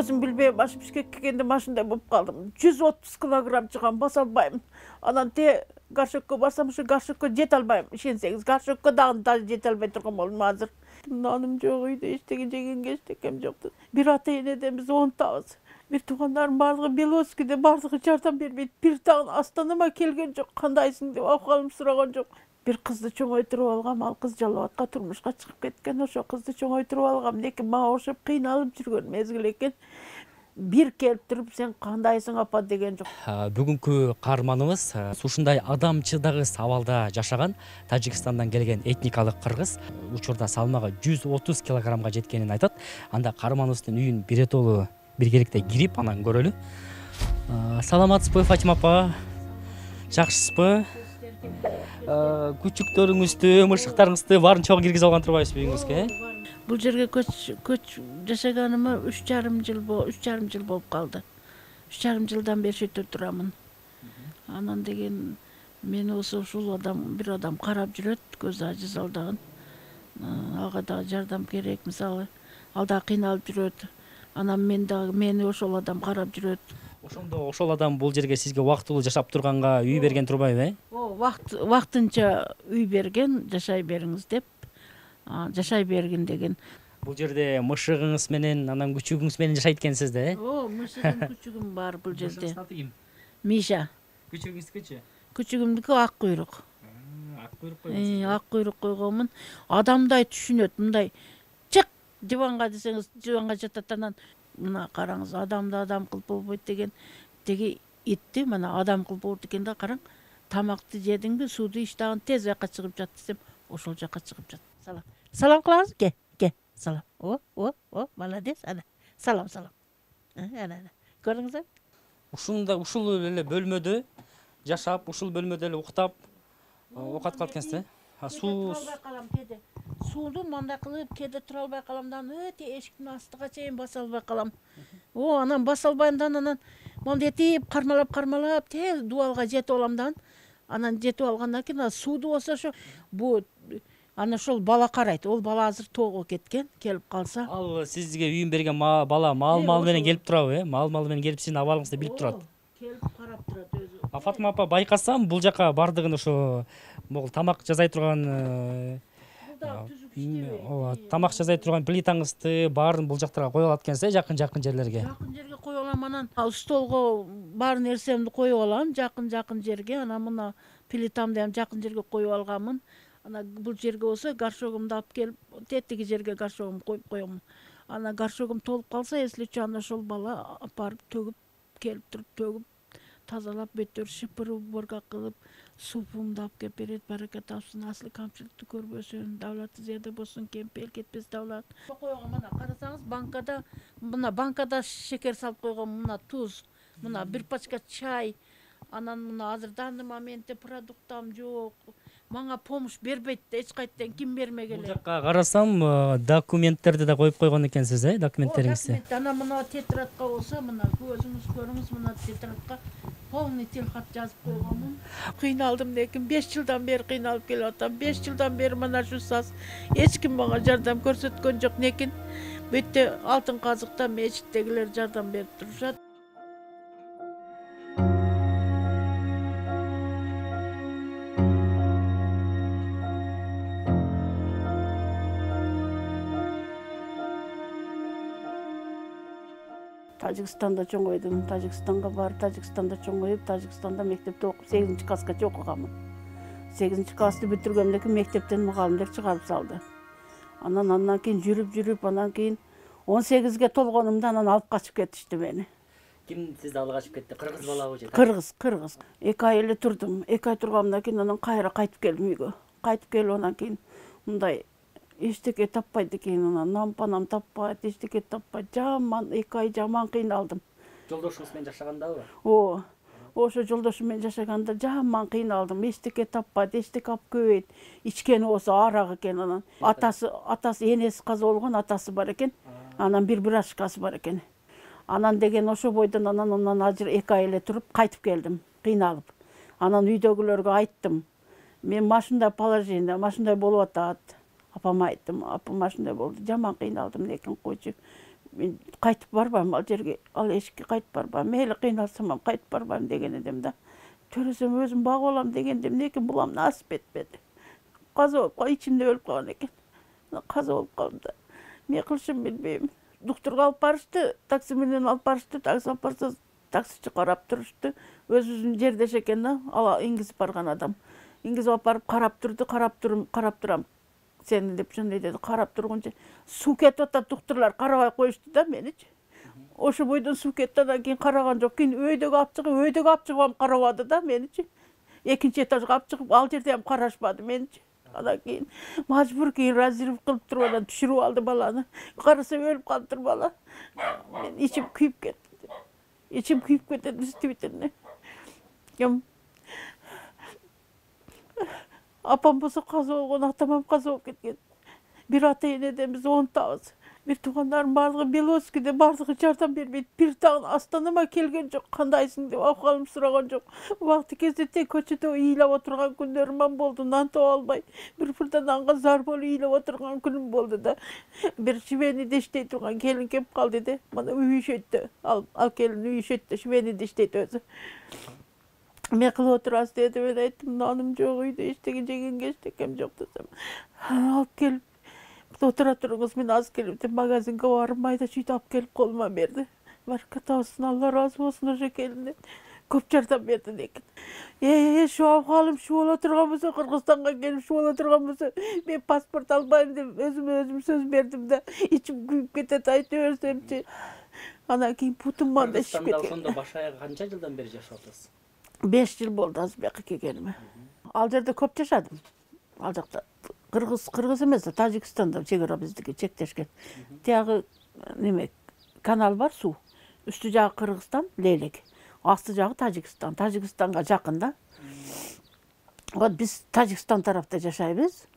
өзүм билбей баш Бишкекке келгенде машиндай болуп калдым. 130 килограмм чыгам, баса албайм. Анан горшокко барсам, ошо горшокко жете албайм. Ишенсеңиз, горшокко дагы жете албай турган болдум азыр. Наным жок, үйдө эчтеке жегенге эчтекем жок. Бир ата-энеден биз 10 табыз. Бир туугандарым бардыгы Беловскийде, бардыгы жардам бербейт. Бир дагы астанама келген жок. Кандайсың деп акыбалымды сураган жок. Бир кызды чоңойтуруп алгам, ал кыз Жалал Абадка турмушка чыгып кеткен. Ошо кызды чоңойтуруп алгам. Лекин мага окшоп кыйналып жүргөн мезгил экен. Бир келип туруп, сен кандайсың апа деген жок. Бүгүнкү каарманыбыз ушундай адамчылдагыс абалда жашаган Тажикстандан келген этникалык кыргыз. Учурда салмагы 130 килограммга жеткенин айтат. Анда каарманыбыздын үйүн биретолу биргеликте кирип, анан көрөлү. Саламатсызбы, Фатима апа? Жакшысызбы? Күчүктөрүңүздү, мышыктарыңызды баарын чогуу киргизе алган турбайсызбы үйүңүзгө? Бул жерге көч жашаганыма 3,5 жыл болуп калды. 3,5 жылдан бери шетте турамын. Анан деген мени ушул бир адам карап жүрөт, көзү ажиз алдаган. Ага да жардам керек, мисалы, ал да кыйналып жүрөт. Анан мени ошол адам карап жүрөт. Ошондо ошол адам бул жерге сизге убактылуу жашап турганга үй берген турбайбы? Вактынча үй берген, жашай бериңиз деп. Жашай бергин деген. Бул жерде мышыгыңыз менен, анан күчүгүңүз менен жашайт экенсиз да? Мышыгым, күчүгүм бар бул жерде. Мышыгыңыздын аты ким? Миша. Күчүгүңүздүкүчү? Күчүгүмдүкү ак куйрук. Ак куйрук койгонсуз. Ак куйрук койгонмун. Адамдай түшүнөт, мындай чык диванга десеңиз, диванга жатат. Анан мына караңыз, адамды адам кылып болбойт деген. Теги итти мына адам кылып болот экен да, караң. Тамакты жедиңби, сууду ич, дагы тез жака чыгып жат десем, ошол жака чыгып жат. Салам. Салам кылабыз? Ке. Салам. Молодец. Ана. Салам. Ана. Көрдүңүзбү? Ушул эле бөлмөдө жашап, ушул бөлмөдө эле уктап, оокат кылат экенсиз, Суу калам кеде. Сууну мындай кылып кеде тура албай калам да, өтө эшиктин астыга чейин баса албай калам. Анан баса албайм, анан мондетип кармалап тез дубалга жетип алам да. Анан жетип алгандан кийин сууду болсо ошо ана ошол бала карайт. Ол бала азыр тоого кеткен, келип калса. Ал сизге үйүн берген бала мал менен келип турабы? Мал менен келип сиздин абалыңызды билип турат. Келип карап турат өзү. Фатима апа, байкасам бул жака бардыгын ошо могул тамак жасай турган тамак жасай турган плитаңызды баарын бул жактарга коюп алат экенсиз, жакын жерлерге. Жакын жерге коюп алам, анан столго бар нерсемди коюп алам, жакын жерге. Анан мына плитамды ham жакын жерге коюп алганмын. Анан бул жерге болсо горшогумду алып келип, тетиги жерге горшогумду коюп коем. Анан горшогум толуп калса, эсличи аны ошол бала апарып төгүп, келип туруп төгүп, тазалап, бөтөр шыпыр уборка кылып, супумду алып келип берет. Барака тапсын, асыл камчылыкты көрбөсүн, давлаты зияда болсун, кемпел кетпес давлат. Койгон мына карасаңыз, банкада шекер салып койгон, мына туз, мына бир пачка чай. Анан мына азыр данный моментте продуктам жок. Мага помощь бербейт да, эч кайдан ким бермегеле. Бул жакка карасам, документтерди да коюп койгон экенсиз, документтериңизди. Анан мына тетрадка болсо, мына өзүңүз көрүңүз, мына тетрадка полный телхат жазып койгонмун. Кыйналдым, лекин 5 жылдан бери кыйналып келип атам. 5 жылдан бери мына шу саз эч ким мага жардам көрсөткөн жок, лекин бүттө Алтын Казыкта мечиттегилер жардам берип турушат. Тажикстанда чоңойдум, Тажикстанга барып, Тажикстанда чоңоюп, Тажикстанда мектепте окуп 8-классча окуганмын. 8-классты бүтүргөндөн кийин мектептен мугалимдер чыгарып салды. Андан кийин жүрүп, анан кийин 18ге толгонумда анан алып качып кетишти мени. Ким сизди алып качып кетти? Кыргыз балабы же? Кыргыз. 2 ай эле турдум. 2 ай тургандан кийин анан кайра кайтып келдим үйгө. Кайтып келип анан кийин мындай эчтеке таппайт экен, анан нампанам таппайт, эчтеке таппайт. Жаман 2 ай жаман кыйналдым. Жолдошуңуз менен жашагандабы? Ошо жолдошум менен жашаганда жаман кыйналдым. Эчтеке таппайт, эчтеке алып көбөйт. Ичкени болсо арак экен анан. Атасы энеси каза болгон, атасы бар экен. Анан бир брашкасы бар экен. Анан деген ошо бойдон анан ажыр 2 ай эле туруп кайтып келдим, кыйналып. Анан үйдөгүлөргө айттым. Мен машиндай положение, машиндай болуп атат. Апама айттым, апам машиндай болду. Жаман кыйналдым, лекин койчу. мен кайтып барбайм ал жерге, ал эшикке кайтып барбайм, мейли кыйналсам ham кайтып барбайм деген эдим да. Төрөсөм өзүм багып алам дегенде эмнеке булам насип этпеди. Каза болуп ичимде өлүп калган экен. Каза болуп калдым да. Эмне кылышымды билбейм. Доктурга алып барышты, такси менен алып барышты, такси алып барса таксичи карап турушту. Өзүбүздүн жердеш экен да, ал иңгизип барган адам. Иңгизип алып барып карап турду, карап турам. Сени деп шундай деди, карап тургунча суу кетип атат, доктурлар карабай коюшту да меничи. Ошо бойдон суу кетти, андан кийин караган жок. Кийин өйдөгө алып чыгып ham карабады да меничи. Экинчи этажга алып чыгып, ал жерде ham карашпады меничи. Андан кийин мажбур разрыв кылып туруп анан түшүрүп алды баланы. Караса өлүп калыптыр бала. Мен ичим күйүп кетти. Ичим күйүп кетти действительно. Апам болсо каза болгон, атам каза болуп кеткен. Бир ата энеден 10 табыз. Бир туугандарым бардыгы Белоскиде, бардыгы жардам бербейт. Бир дагы астанама келген жок. Кандайсың деп абкалым сураган жок. Убакыт кезде тек көчөдө ыйлап отурган күндөрүм болду. Нан таба албай, бир нанга зар болуп ыйлап отурган күнүм болду да. Бир швейныйда иштей турган келин келип калды де. Мына үй ишөттү. Ал келин үй ишөттү, швейныйда иштейт өзү. Эмне кылып отурасыз деди. Мен айттым, наным жок, үйдө эчтеке жегенге эчтекем жок десем. Алып келип отура туруңуз, мен азыр келип деп магазинге барып майда чүйдү алып келип колума берди. Бараката болсун, Алла ыраазы болсун ошо келинден. Көп жардам берди экен. Şu абкалым şu боло турган болсо, Кыргызстанга келип şu боло турган болсо, мен паспорт албайм деп өзүм сөз бердим да. Ичим күйүп кетет, айта берсемчи. Анан кийин бутум мында ишип кеткен. Кыргызстанда ошондо баш аяк канча жылдан бери жашап атасыз? 5 жыл болду азыр бияка келгениме. Ал жерде көп жашадым. Ал жакта Кыргыз эмес, Тажикстанда чек ара биздики чектешкен. Тиягы неме канал бар, суу. Үстү жагы Кыргызстан, Лейлек. Асты жагы Тажикстан. Тажикстанга жакын да. Вот биз Тажикстан тарапта жашайбыз.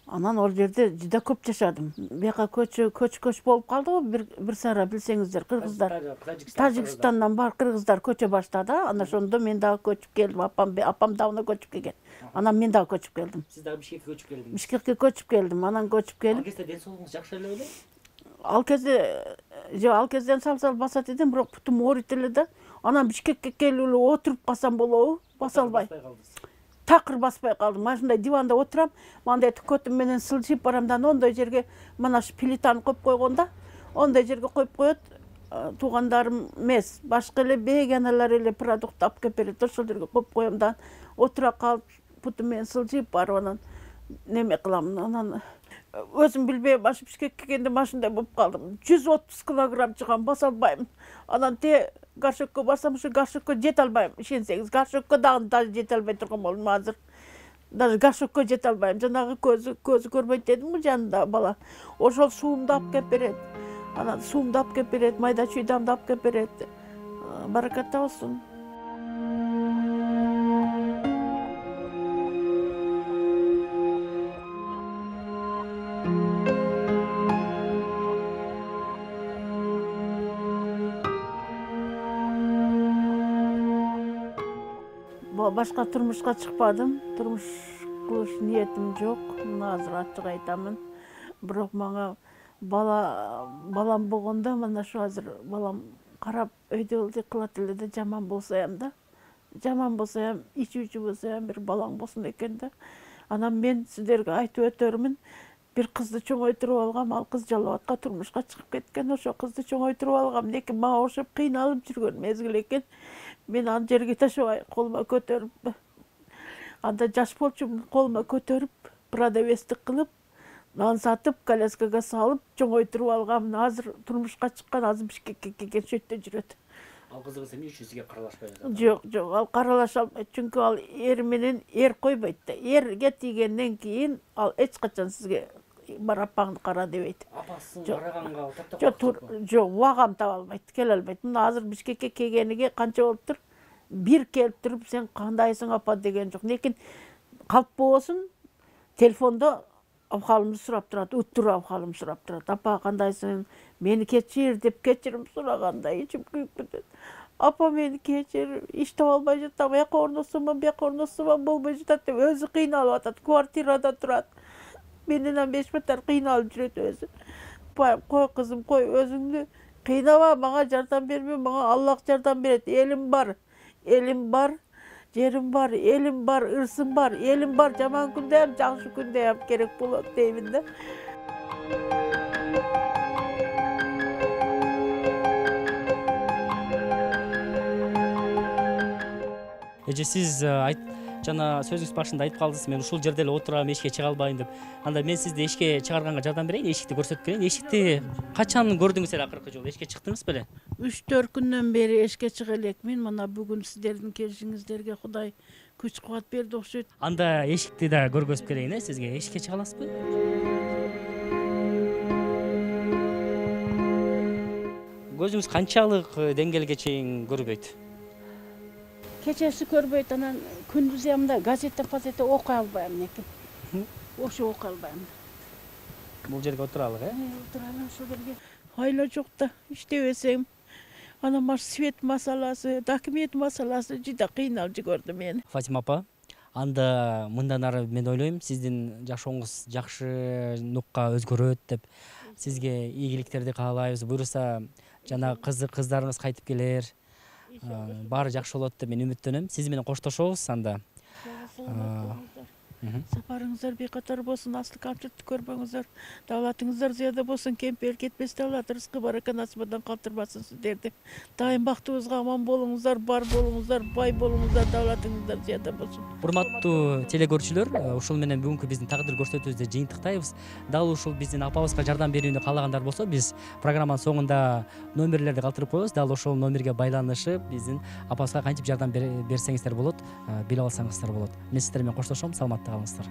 Анан ол жерде жыда көп жашадым. Бияка көч болуп калды го, бир сара билсеңиздер, кыргыздар. Тажикстандан бар кыргыздар көчө баштады. Анан ошондо мен дагы көчүп келдим. Апам дагы көчүп келген. Анан мен дагы көчүп келдим. Сиз дагы Бишкекке көчүп келдиңиз? Бишкекке көчүп келдим. Анан көчүп келип. Ал кезде ден соолугуңуз жакшы эле беле? Ал кезде ал кезден сал басат эдим, бирок бутум ооруйт эле да. Анан Бишкекке келип эле отуруп калсам болобу? Баса албай. Такыр баспай калдым. Машинада диванда отурам, мындай көтүм менен сылжып барам да, ондой жерге мына шу плитаны коюп койгон да. Ондой жерге коюп коет. Туугандарым эмес, башка эле беганалар эле продукт алып келип берет. Ошол жерге коюп коем да, отура калып, путум менен сылжып барып анан неме кылам. Анан өзүм билбей башы Бишкекке келгенде машинада болуп калдым. 130 килограмм чыгам, баса албайм. Анан горшокко барсам, ошо горшокко жете албайм. Ишенсеңиз, горшокко дагы даже жете албай турган болдум азыр. Даже горшокко жете албайм. Жанагы көзү көрбөйт дедимби жанында бала. Ошол суумду алып келип берет. Анан суумду алып келип берет, майда чүйдамды алып келип берет. Бараката болсун. Башка турмушка чыкпадым. Турмуш кылыш ниетим жок. Мына азыр ачык айтамын. Бирок мага балам болгондо, мына шу азыр балам карап өйдө кылат эле да, жаман болсо ham да. Жаман болсо ham, ичүүчү болсо ham бир балаң болсун экен да. Анан мен сиздерге айтып өтөрмүн. Бир кызды чоңойтуруп алгам, ал кыз Жалал Абадка турмушка чыгып кеткен. Ошо кызды чоңойтуруп алгам, неки мага окшоп кыйналып жүргөн мезгил экен. Мен аны жерге ташабай, колума көтөрүп, анда жаш болчумун, колума көтөрүп, продавецтик кылып, нан сатып, коляскага салып, чоңойтуруп алгам. Азыр турмушка чыккан, азыр Бишкекке келген, шо жерде жүрөт. Ал кызыңыз эмне үчүн сизге каралашпай жатат? Жок, ал каралаша албайт, чүнкү ал эр менен койбойт да. Эрге тийгенден кийин ал эч качан сизге бар апаңды кара дебейт. Апасын караганга токтоп жок, убагам таба албайт, келе албайт. Мына азыр Бишкекке келгениге канча болуптур? Бир келип туруп, сен кандайсың апа деген жок. Лекин калп болбосун, телефондо абкалымды сурап турат, уттур абкалым сурап турат. Апа кандайсың? Мени кечир деп кечирим сураганда ичим күйүп кетет. Апа мени кечир, иш таба албай жатам, аяка орносомон, бияка орносомон болбой жатат деп өзү кыйналып атат, квартирада турат. Менден 5 батар кыйналып жүрөт өзү. Кой кызым, кой, өзүңдү кыйнаба, мага жардам берме, мага Аллах жардам берет. Элим бар, жерим бар, элим бар, ырсым бар, элим бар. Жаман күндө ham, жакшы күндө ham керек болот деймин да. Эже, сиз жана сөзүңүз башында айтып калдыңыз, мен ушул жерде эле отурам, эшикке чыга албайм деп. Анда мен сизди эшикке чыгарганга жардам берейин, эшикти көрсөтүп берейин. Эшикти качан көрдүңүз эле акыркы жолу? Эшикке чыктыңыз беле? 3-4 күндөн бери эшикке чыга элекмин. Мына бүгүн сиздердин келишиңиздерге Кудай күч кубат берди окшойт. Анда эшикти да көргөзүп берейин, сизге. Эшикке чыга аласызбы? Көзүңүз канчалык деңгээлге чейин көрбөйт? Кечеси көрбөйт, анан күндүз ямда газета окуй албайм экен. Ошо окуй албайм. Бул жерге отуралык, Отуралым ошол жерге. Айла жок да, иштебесем. Анан маш свет маселасы, документ маселасы жыда кыйналып жиберди мени. Фатима апа, анда мындан ары мен ойлойм, сиздин жашооңуз жакшы нукка өзгөрөт деп сизге ийгиликтерди каалайбыз. Буюрса жана кыздарыңыз кайтып келер, баары жакшы болот деп мен үмүттөнөм. Сиз менен коштошобуз анда. Сапарыңыздар бекатар болсун, асыл камчылыкты көрбөңүздөр, давлатыңыздар зыяда болсун, кемпел кетпес давлат, рызкы барака насыбадан калтырбасын сиздерди. Дайым бактыбызга аман болуңуздар, бар болуңуздар, бай болуңуздар, давлатыңыздар зыяда болсун. Урматтуу телекөрүүчүлөр, ушул менен бүгүнкү биздин тагдыр көрсөтүүбүздү жыйынтыктайбыз. Дал ушул биздин апабызга жардам берүүнү каалагандар болсо, биз программанын соңунда номерлерди калтырып коебуз. Дал ошол номерге байланышып, биздин апабызга кантип жардам берсеңиздер болот, билип алсаңыздар болот. Мен сиздер менен коштошом, саламатта калыңыздар.